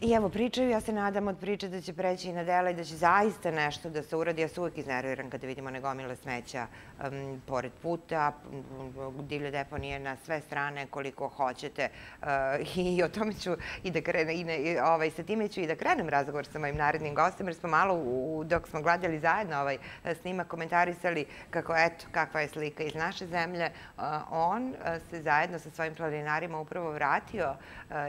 I evo, pričaju, ja se nadam od priče da će preći i na dela i da će zaista nešto da se uradi. Ja se uvek iznerviram kada vidimo negomile smeća pored puta, divlje deponije na sve strane koliko hoćete. I o tome ću i da krenem, sa time ću i da krenem razgovor sa mojim narednim gostom, jer smo malo, dok smo gledali zajedno ovaj snimak, komentarisali kako, eto, kakva je slika iz naše zemlje. On se zajedno sa svojim planinarima upravo vratio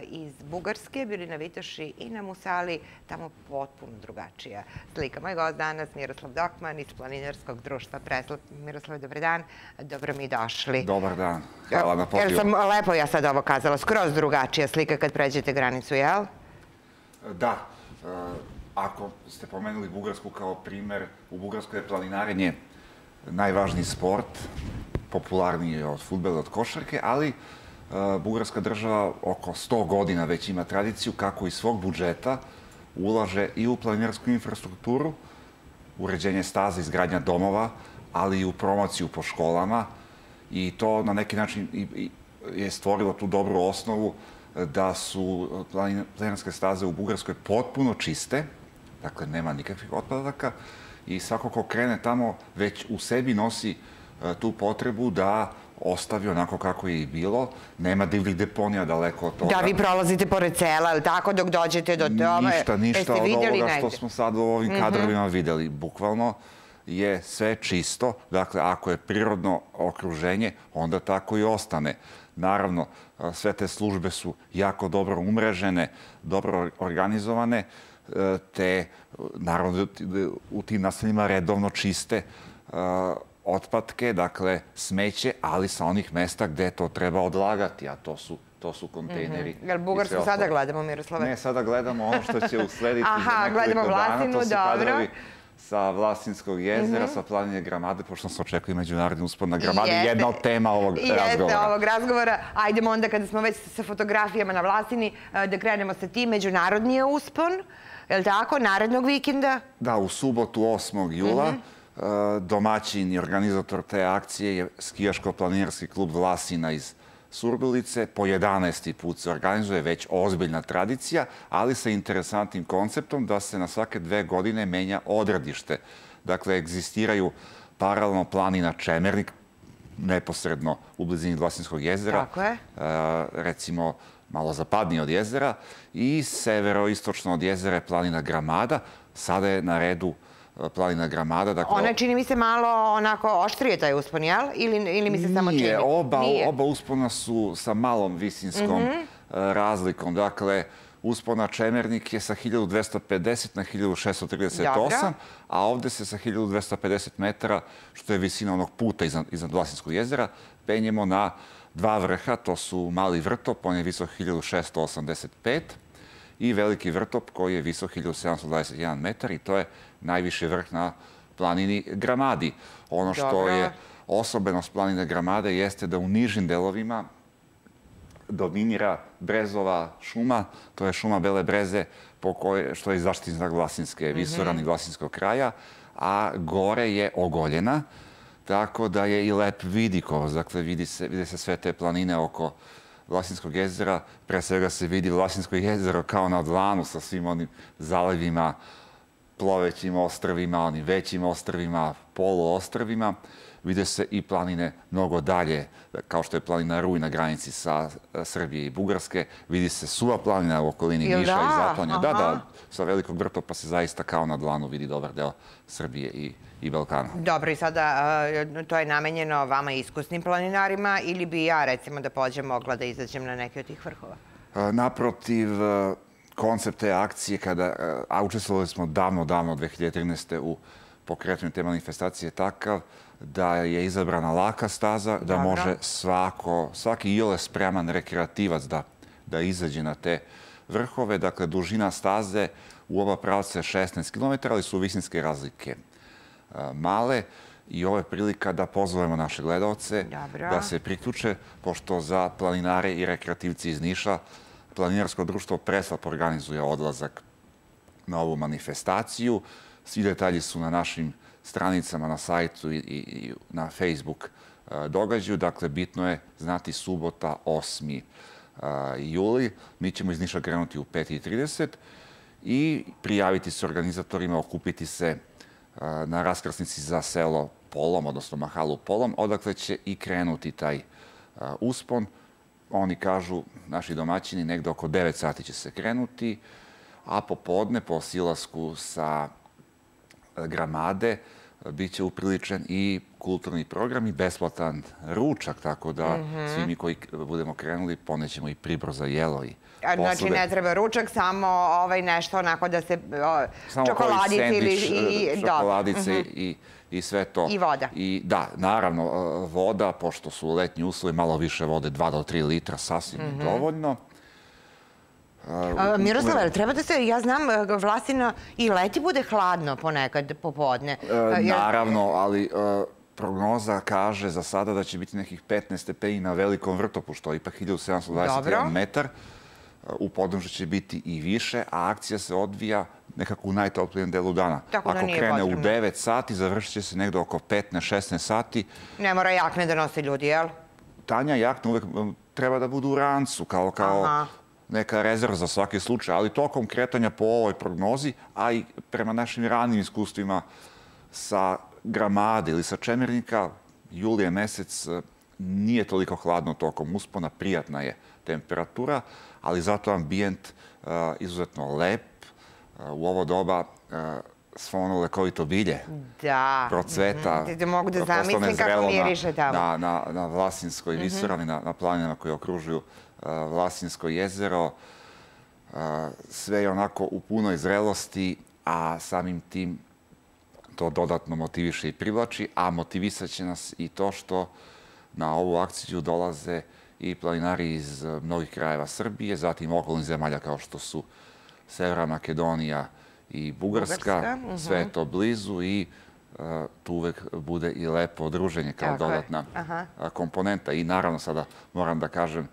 iz Bugarske, bili na Vitoši i na Musali, tamo potpuno drugačija slika. Moj gost danas, Miroslav Dokman iz Planinarskog društva Preslap. Miroslav, dobar dan, dobro mi došli. Dobar dan, hvala na pozivu. Jel sam lepo ja sad ovo kazala, skroz drugačija slika kad pređete granicu, jel? Da, ako ste pomenuli Bugarsku kao primer, u Bugarskoj je planinarenje najvažniji sport, popularniji od fudbala, od košarke, ali Bugarska država oko 100 godina već ima tradiciju kako iz svog budžeta ulaže i u planinarsku infrastrukturu, uređenje staza, izgradnja domova, ali i u promociju po školama. I to na neki način je stvorilo tu dobru osnovu da su planinarske staze u Bugarskoj potpuno čiste, dakle nema nikakvih otpadaka i svako ko krene tamo već u sebi nosi tu potrebu da ostavi onako kako je i bilo. Nema divljih deponija daleko od toga. Da, vi prolazite pored sela, ili tako, dok dođete do tome? Ništa od ovoga što smo sad u ovim kadrovima videli. Bukvalno je sve čisto. Dakle, ako je prirodno okruženje, onda tako i ostane. Naravno, sve te službe su jako dobro umrežene, dobro organizovane, te, naravno, u tim naseljima redovno čiste otpadke, dakle smeće, ali sa onih mesta gde to treba odlagati, a to su kontejneri. Jel Bugarsku sada gledamo, Miroslave? Ne, sada gledamo ono što će uslediti za nekoliko dana. To su kadrovi sa Vlasinskog jezera, sa planine Gramade, pošto se očekuje međunarodni uspon na Gramadi. Jedna od tema ovog razgovora. Jeste ovog razgovora. Ajdemo onda, kada smo već sa fotografijama na Vlasini, da krenemo sa tim. Međunarodni je uspon, je li tako, narednog vikenda? Da, u subotu 8. jula. Domaćin i organizator te akcije je skijaško-planinarski klub Vlasina iz Surdulice. Po 11. put se organizuje, već ozbiljna tradicija, ali sa interesantnim konceptom da se na svake 2 godine menja odredište. Dakle, egzistiraju paralelno planina Čemernik, neposredno u blizini Vlasinskog jezera. Tako je. Recimo, malo zapadnije od jezera. I severoistočno od jezera je planina Gramada. Sada je na redu planina Gramada. Ona čini mi se malo onako oštrije taj uspon, jel? Ili mi se samo čini? Nije, oba uspona su sa malom visinskom razlikom. Dakle, uspona Čemernik je sa 1250 na 1638, a ovde se sa 1250 metara, što je visina onog puta iznad Vlasinskog jezera, penjemo na 2 vrha. To su Mali vrtop, on je visok 1685, i Veliki vrtop koji je visok 1721 metar i to je najviši vrh na planini Gramadi. Ono što je osobenost planine Gramade jeste da u nižim delovima dominira brezova šuma, to je šuma bele breze što je zaštitni znak Vlasinske visoravni Vlasinskog kraja, a gore je ogoljena, tako da je i lep vidikos. Dakle, vide se sve te planine oko Vlasinskog jezera. Pre svega se vidi Vlasinsko jezero kao na dlanu sa svim onim zalivima, plovećim ostrvima, onim većim ostrvima, poluostrvima. Vide se i planine mnogo dalje, kao što je planina Ruj na granici sa Srbije i Bugarske. Vidi se Suva planina u okolini Niša i Zaplanja. Da, sa Velikog vrtopa se zaista kao na dlanu vidi dobar deo Srbije i Balkana. Dobro, i sada to je namenjeno vama iskusnim planinarima ili bi ja, recimo, da pođem mogla da izađem na neke od tih vrhova? Naprotiv, koncept te akcije, a učestvovali smo davno, 2013. u pokretanju te manifestacije takav da je izabrana laka staza, da može svaki iole spreman rekreativac da izađe na te vrhove. Dakle, dužina staze u oba pravca je 16 km, ali su visinske razlike male i ovo je prilika da pozovemo naše gledalce da se priključe, pošto za planinare i rekreativci iz Niša Planinarsko društvo Preslap organizuje odlazak na ovu manifestaciju. Svi detalji su na našim stranicama, na sajtu i na Facebook događaju. Dakle, bitno je znati subota 8. juli. Mi ćemo iz Niša krenuti u 5:30 i prijaviti se organizatorima, okupiti se na raskrsnici za selo Polom, odnosno mahalu Polom, odakle će i krenuti taj uspon. Oni kažu, naši domaćini, negde oko 9 sati će se krenuti, a popodne, po silasku sa Gramade, bit će upriličen i kulturni program i besplatan ručak, tako da svi mi koji budemo krenuli ponećemo i pribor za jelo i posade. Znači ne treba ručak, samo nešto onako da se čokoladice ili... čokoladice i sve to. I voda. I da, naravno, voda, pošto su letnji uslovi, malo više vode, 2 do 3 litra, sasvim je dovoljno. Miroslava, treba da se, ja znam, Vlasina i leti bude hladno ponekad popodne. Naravno, ali prognoza kaže za sada da će biti nekih 15 stepeni na Velikom Vrtopu, što je ipak 1721 metar. U podnožju će biti i više, a akcija se odvija nekako u najtoplijem delu dana. Ako krene u 9 sati, završit će se negde oko 15-16 sati. Ne mora jakne da nose ljudi, jel? Tanja jakne uvek treba da budu u rancu, kao neka rezerva za svaki slučaj, ali tokom kretanja po ovoj prognozi, a i prema našim ranim iskustvima sa Gramade ili sa Čemernika, julije mesec nije toliko hladno tokom uspona, prijatna je temperatura, ali zato ambijent izuzetno lep. U ovo doba svo ono lekovito bilje procveta, mogu da zamislim kako miriše tamo. Na Vlasinskoj visoravni, na planinama koje okružuju Vlasinsko jezero. Sve je onako u punoj zrelosti, a samim tim to dodatno motiviše i privlači, a motivisat će nas i to što na ovu akciju dolaze i planinari iz mnogih krajeva Srbije, zatim okolnih zemalja kao što su Severna Makedonija i Bugarska. Sve je to blizu i tu uvek bude i lepo druženje kao dodatna komponenta. I naravno sada moram da kažem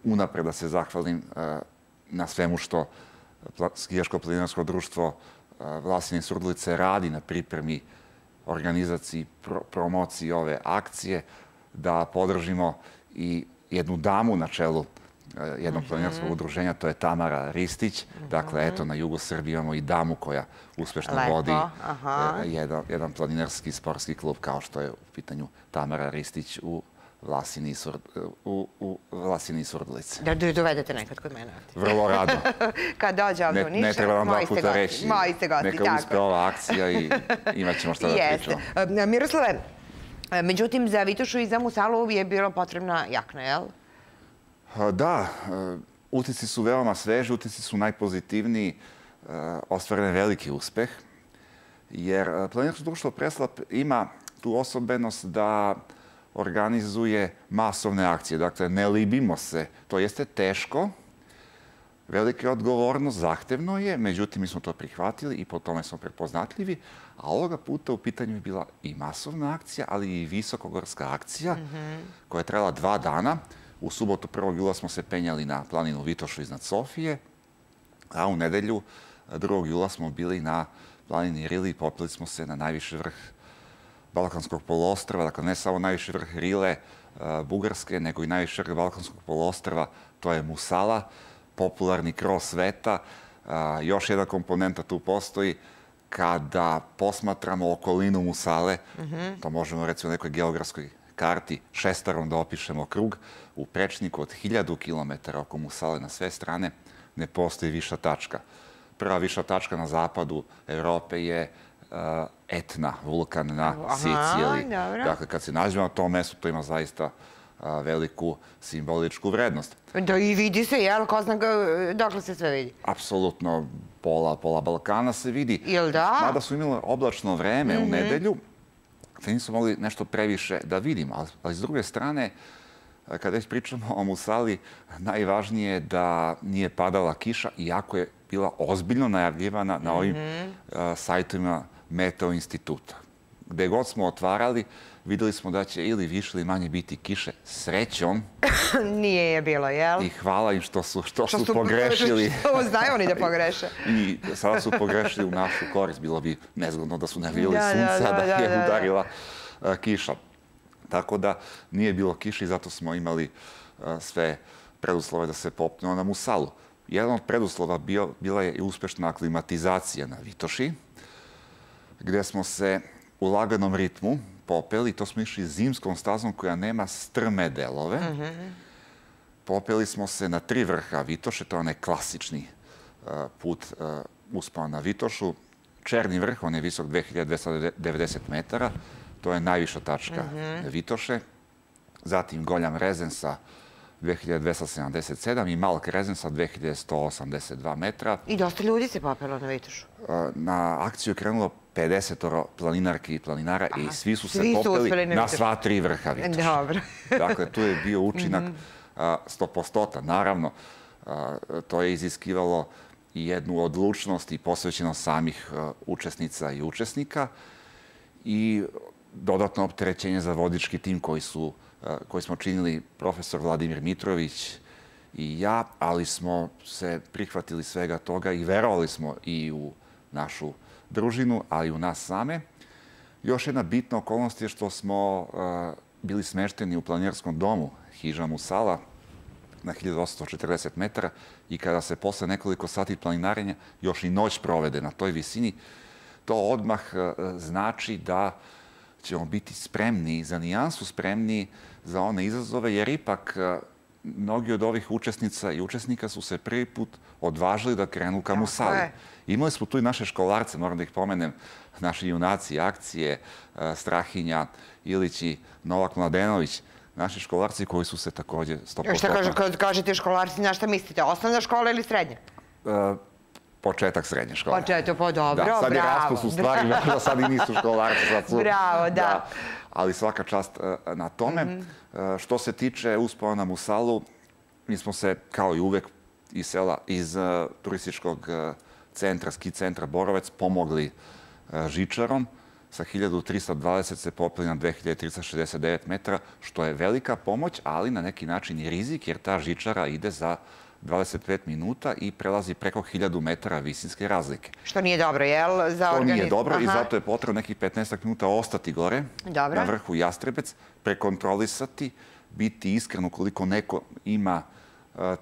unapred da se zahvalim na svemu što Skijaško-planinarsko društvo Vlasine Surdulice radi na pripremi, organizaciji, promociji ove akcije, da podržimo i jednu damu na čelu jednog planinarskog udruženja, to je Tamara Ristić. Dakle, eto, na jugu Srbije imamo i damu koja uspešno vodi jedan planinarski sportski klub, kao što je u pitanju Tamara Ristić u Vlasini Surdulice. Da dovedete nekad kod mene ovdje. Vrlo rado. Kad dođe ovdje u Niš, ne treba vam 2 puta reći. Moji ste gosti, tako. Neka uspe ova akcija i imat ćemo šta da pričamo. Miroslave, međutim, za Vitošu i za Musalu je bilo potrebna jakna, jel? Da, utisci su veoma sveži, utisci su najpozitivniji, ostvaren je veliki uspeh, jer Planinarsko društvo Preslap ima tu osobenost da organizuje masovne akcije. Dakle, ne libimo se. To jeste teško, velika je odgovornost, zahtevno je, međutim, mi smo to prihvatili i po tome smo prepoznatljivi, a ovoga puta u pitanju je bila i masovna akcija, ali i visokogorska akcija koja je trajala 2 dana. U subotu 1. jula smo se penjali na planinu Vitošu iznad Sofije, a u nedelju 2. jula smo bili na planini Rili i popeli smo se na najviši vrh Balkanskog poluostrva. Dakle, ne samo najviši vrh Rile, Bugarske, nego i najviši vrh Balkanskog poluostrva, to je Musala, popularni kros sveta. Još jedna komponenta tu postoji. Kada posmatramo okolinu Musale, to možemo recimo u nekoj geografskoj karti šestarom da opišemo krug, u prečniku od 1000 km oko Musale na sve strane ne postoji viša tačka. Prva viša tačka na zapadu Evrope je Etna, vulkan na Siciliji. Dakle, kad se nađemo na tom mestu, to ima zaista veliku simboličku vrednost. Da i vidi se, jel? Ko zna dokle se sve vidi? Apsolutno, pola Balkana se vidi. Jel da? Mada su imali oblačno vreme u nedelju, te nisu mogli nešto previše da vidimo. Ali s druge strane, kada već pričamo o Musali, najvažnije je da nije padala kiša, iako je bila ozbiljno najavljivana na ovim sajtovima Meteo instituta. Gde god smo otvarali, videli smo da će ili više ili manje biti kiše. Srećom. Nije je bilo, jel? I hvala im što su pogrešili. Znaju oni da pogreše. I sada su pogrešili u našu korist. Bilo bi nezgodno da su navijali sunca, da je udarila kiša. Tako da nije bilo kiše i zato smo imali sve preduslova da se popnemo na Musalu. Jedan od preduslova bila je i uspešna aklimatizacija na Vitoši, gde smo se u laganom ritmu popeli. To smo išli zimskom stazom koja nema strme delove. Popeli smo se na 3 vrha Vitoše, to je onaj klasični put uspona na Vitošu. Černi vrh, on je visok 2290 metara, to je najviša tačka Vitoše. Zatim Goljam Rezen sa 2277 i Malk Rezen sa 2182 metra. I dosta ljudi se popelo na Vitošu. Na akciju je krenulo 50 planinarki i planinara i svi su se popeli na sva 3 vrha Vitoša. Dobro. Dakle, tu je bio učinak 100%. Naravno, to je iziskivalo i jednu odlučnost i posvećenost samih učesnica i učesnika i dodatno opterećenje za vodički tim koji smo činili profesor Vladimir Mitrović i ja, ali smo se prihvatili svega toga i verovali smo i u našu družinu, ali i u nas same. Još jedna bitna okolnost je što smo bili smešteni u planinarskom domu Hiža Musala na 1840 metara i kada se posle nekoliko sati planinarenja još i noć provede na toj visini, to odmah znači da ćemo biti spremni, za nijansu spremni za one izazove, jer ipak mnogi od ovih učesnica i učesnika su se prvi put odvažili da krenu ka Musali. Imali smo tu i naše školarce, moram da ih pomenem, naši junaci akcije, Strahinja, Ilić i Novak Mladenović, naši školarci koji su se takođe 100%... Šta kad kažete školarci, na šta mislite? Osnovna škola ili srednja? Početak srednje škole. Početak, pa dobro, bravo. Sad je raspust u stvari, možda sad i nisu školarci. Bravo, da. Ali svaka čast na tome. Što se tiče uspona na Musalu, mi smo se, kao i uvek, iz turističkog centra, ski centra Borovec, pomogli žičarom. Sa 1320 se popeli na 2369 metara, što je velika pomoć, ali na neki način i rizik, jer ta žičara ide za 25 minuta i prelazi preko 1000 metara visinske razlike. Što nije dobro, jel? To nije dobro i zato je potrebno nekih 15 minuta ostati gore, na vrhu Jastrebec, prekontrolisati, biti iskren ukoliko neko ima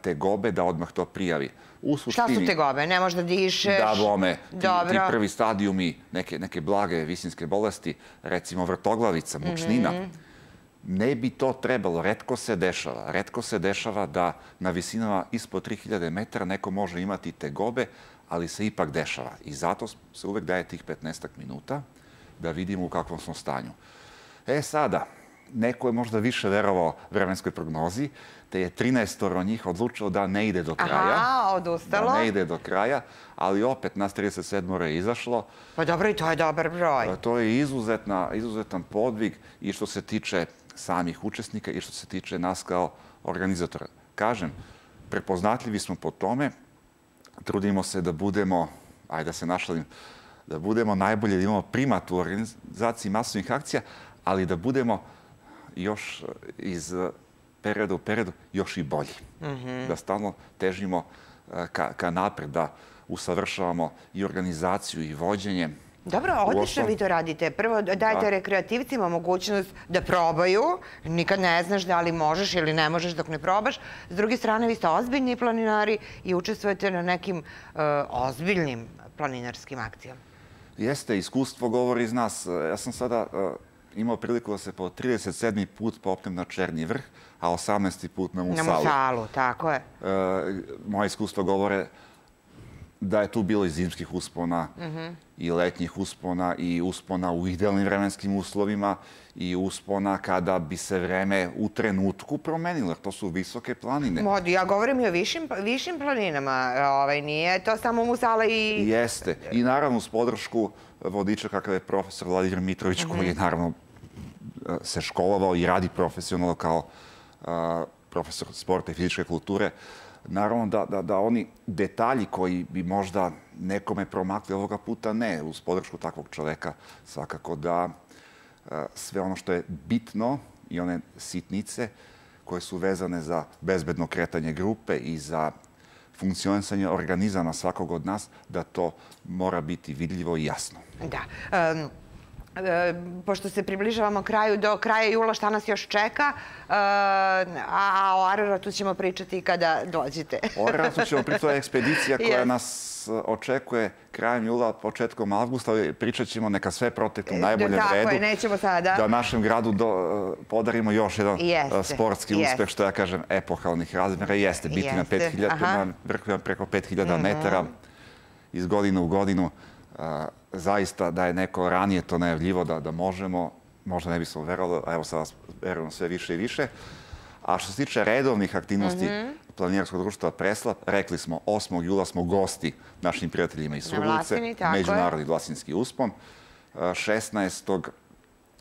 tegobe da odmah to prijavi. Šta su tegobe? Ne možeš da dišeš? Da, bome. Ti prvi stadijumi neke blage visinske bolesti, recimo vrtoglavica, mučnina, ne bi to trebalo. Retko se dešava. Retko se dešava da na visinama ispod 3000 metara neko može imati tegobe, ali se ipak dešava. I zato se uvek daje tih 15 minuta da vidimo u kakvom smo stanju. Sada, neko je možda više verovao vremenskoj prognozi, te je 13 njih odlučilo da ne ide do kraja. Aha, odustalo. Da ne ide do kraja, ali opet nas 37 je izašlo. Pa dobro, i to je dobar broj. To je izuzetan podvig i što se tiče samih učesnika i što se tiče nas kao organizatora. Kažem, prepoznatljivi smo po tome, trudimo se da budemo, ajde da se našalim, da budemo najbolje, da imamo primat u organizaciji masovnih akcija, ali da budemo još iz perioda u periodu još i bolji. Da stalno težimo ka napred, da usavršavamo i organizaciju i vođenje. Dobro, odlično vi to radite. Prvo dajete rekreativcima mogućnost da probaju. Nikad ne znaš da li možeš ili ne možeš dok ne probaš. S druge strane, vi ste ozbiljni planinari i učestvujete na nekim ozbiljnim planinarskim akcijama. Jeste, iskustvo govori iz nas. Ja sam sada imao priliku da se po 37. put popnem na Černi vrh, a 18. put na Musalu. Na Musalu, tako je. Moje iskustvo govore da je tu bilo i zimskih uspona i letnjih uspona i uspona u idealnim vremenskim uslovima i uspona kada bi se vreme u trenutku promenilo. To su visoke planine. Ja govorim i o višim planinama. Nije to samo Musala i... Jeste. I naravno uz podršku vodiča kakav je profesor Vladimir Mitrović, koji je naravno se školovao i radi profesionalno kao profesor sporta i fizičke kulture. Naravno da oni detalji koji bi možda nekome promakli ovoga puta, ne. Uz podršku takvog čoveka svakako da sve ono što je bitno i one sitnice koje su vezane za bezbedno kretanje grupe i za funkcionisanje organizama svakog od nas, da to mora biti vidljivo i jasno. Da. pošto se približavamo kraju, do kraja jula šta nas još čeka, a o Araratu ćemo pričati kada dođete. O Araratu ćemo pričati, to je ekspedicija koja nas očekuje krajem jula, početkom avgusta. Pričat ćemo neka sve proteknu u najboljem redu. Tako je, nećemo sada. Da našem gradu podarimo još jedan sportski uspeh, što ja kažem, epohalnih razmjera. Jeste biti na 5000, vrhu preko 5000 metara iz godine u godinu. Zaista da je neko ranije to najavljivo da možemo, možda ne bismo verovali, a evo sad verujemo sve više i više. A što se tiče redovnih aktivnosti Planinarskog društva Preslap, rekli smo 8. jula smo gosti našim prijateljima iz Surdulice, Međunarodni Vlasinski uspon. 16.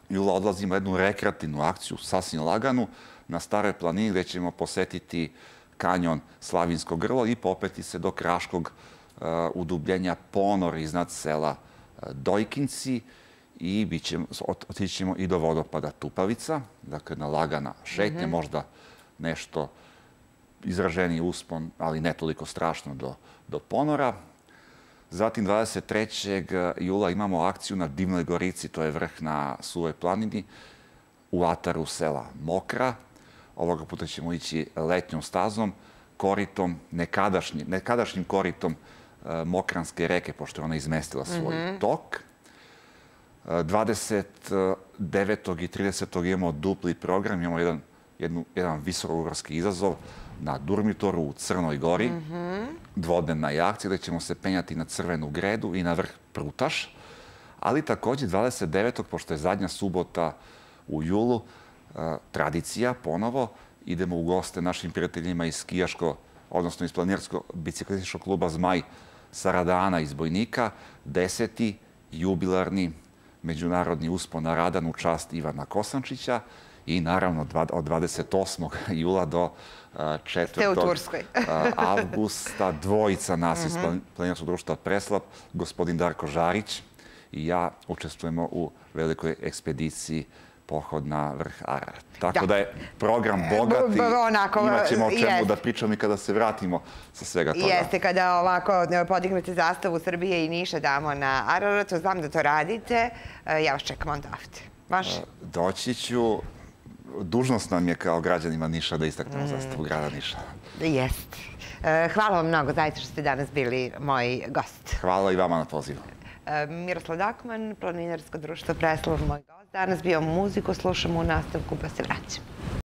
jula odlazimo jednu rekreativnu akciju, sasvim laganu, na Staroj planini gde ćemo posetiti kanjon Slavinsko grlo i popeti se do Kraškog udubljenja Ponor iznad sela Dojkinci i otići ćemo i do vodopada Tupavica, dakle na lagana šetnja, možda nešto izraženiji uspon, ali ne toliko strašno do Ponora. Zatim 23. jula imamo akciju na Divnoj Gorici, to je vrh na Suvoj planini, u ataru sela Mokra. Ovoga puta ćemo ići letnjom stazom, koritom, nekadašnjim koritom Mokranske reke, pošto je ona izmestila svoj tok. 29. i 30. imamo dupli program, imamo jedan visokogorski izazov na Durmitoru u Crnoj Gori, dvodnevna akcija gde ćemo se penjati na Crvenu Gredu i na vrh Prutaš, ali također 29. pošto je zadnja subota u julu, tradicija ponovo, idemo u goste našim prijateljima iz skijaško, odnosno iz planinarsko-biciklističkog kluba Zmaj Saradana iz Bojnika, 10. jubilarni međunarodni uspon na Radan u čast Ivana Kosančića i naravno od 28. jula do 4. avgusta dvojica nas iz Planinarskog društva Preslap, gospodin Darko Žarić i ja učestvujemo u velikoj ekspediciji pohod na vrh Ararat. Tako da je program bogat i imat ćemo o čemu da pričamo i kada se vratimo sa svega toga. Jeste, kada ovako podignete zastavu Srbije i Niša damo na Araratu, znam da to radite, ja vas čekam onda ovde. Može? Doći ću. Dužnost nam je kao građanima Niša da istaknemo zastavu grada Niša. Jeste. Hvala vam mnogo, zaista što ste danas bili moj gost. Hvala i vama na pozivu. Miroslav Dakman, Planinarsko društvo Preslap, moj gost. Danas bio muziku, slušamo u nastavku pa se vraćamo.